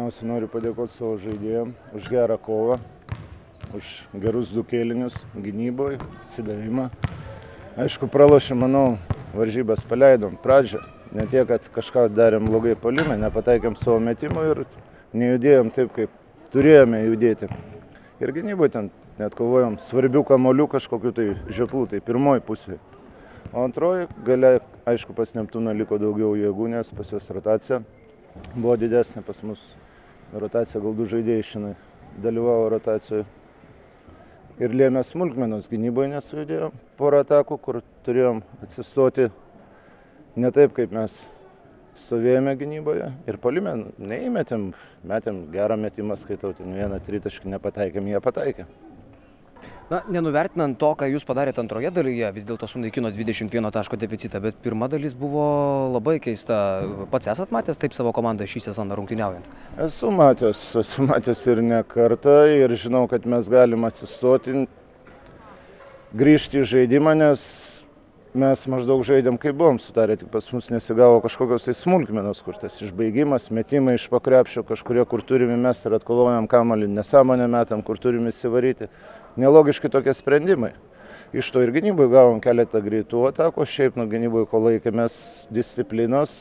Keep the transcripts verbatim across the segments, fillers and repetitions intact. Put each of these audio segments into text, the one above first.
Pirmiausia, noriu padėkoti savo žaidėjams už gerą kovą, už gerus du kėlinius gynyboje, atsidavimą. Aišku, pralošėm, manau, varžybas paleidom pradžią. Ne tiek, kad kažką darėm blogai puolime, nepataikėm savo metimų ir nejudėjom taip, kaip turėjome judėti. Ir gynyboje ten net kovojom svarbių kamuolių kažkokių tai žioplų, tai pirmoji pusė. O antroji gale, aišku, pas Neptūną liko daugiau jėgų, nes pas jos rotacija buvo didesnė, pas mus rotacija, gal du žaidėjai šiandien dalyvavo rotacijoje. Ir lėmė smulkmenos, gynyboje nesujudėjom porą atakų, kur turėjom atsistoti ne taip, kaip mes stovėjome gynyboje. Ir puolime neįmetėm, metėm gerą metimą, skaitau, ten vieną tritaškį nepataikėm, jie pataikė. Na, nenuvertinant to, ką jūs padarėte antroje dalyje, vis dėlto sunaikino dvidešimt vieno taško deficitą, bet pirma dalis buvo labai keista. Pats esat matęs taip savo komandą šį sezoną rungtyniaujant? Esu matęs, esu matęs ir ne kartą ir žinau, kad mes galim atsistoti, grįžti į žaidimą, nes mes maždaug žaidėm, kaip buvom sutarę, tik pas mus nesigavo kažkokios tai smulkmenos, kur tas išbaigimas, metimai iš pakrepšio, kažkurie, kur turime mes ir atkovojam kamuolį, nesąmonę metam, kur turime įsivaryti. Nelogiški tokie sprendimai. Iš to ir gynyboje gavom keletą greitų atakų, šiaip nuo gynyboje, kol laikėmės disciplinos,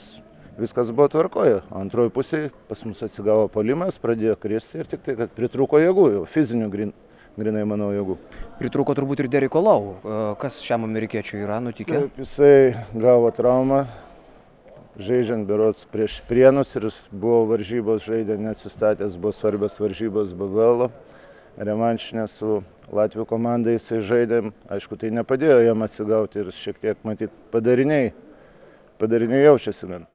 viskas buvo tvarkoje. Antroji pusėje pas mus atsigavo puolimas, pradėjo kristi ir tik tai, kad pritrūko jėgų, jau fizinių grin, grinai, manau, jėgų. Pritrūko turbūt ir Deriko Lau. Kas šiam amerikiečiui yra nutikę? Taip, jisai gavo traumą, žaidžiant berods prieš Prienus ir buvo varžybos, žaidė neatsistatęs, buvo svarbios varžybos B B L. Revanšinė su Latvių komandai jisai žaidėm, aišku, tai nepadėjo jam atsigauti ir šiek tiek, matyt, padariniai, padariniai jaučiasi gan.